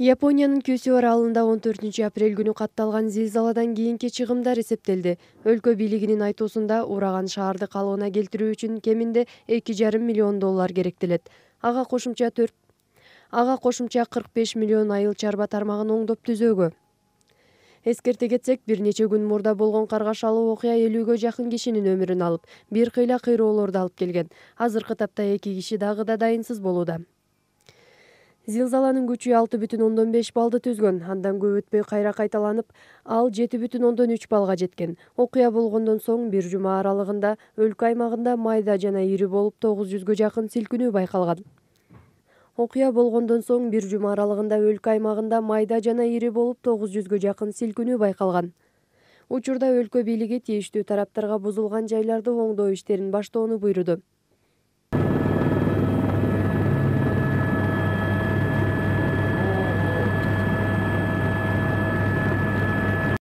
Япониянын Кюсю аралында 14 апрель күнү катталган зилзаладан кийинки чыгымдар эсептелди. Өлкө бийлигинин айтуусунда ураган шаарды калыбына келтирүү үчүн кеминде $2,5 миллион керектелет. Ага кошумча 45 миллион айыл чарба тармагын оңдоп түзөөгө. Эскерте кетсек, бир нече күн мурда болгон каргашалуу окуя 50-гө жакын кишинин өмүрүн алып, бир кыйла кыйроолорду алып келген. Азыркы тапта 2 киши дагы да дайынсыз болууда. Зилзаланын күчү 6,5 баллды түзгөн. Андан көп өтпөй кайра кайталанып, ал 7,3 баллга жеткен. Окуя болгондон соң бир жума аралыгында өлкө аймагында майда жана ири болуп 900гө жакын силкинүү байкалган. Окуя болгондон соң бир жума аралыгында өлкө аймагында майда жана ири болуп 900гө жакын силкинүү байкалган. Учурда өлкө бийлиги тийиштүү тараптарга бузулган жайларды оңдоо иштерин баштоону буйруду.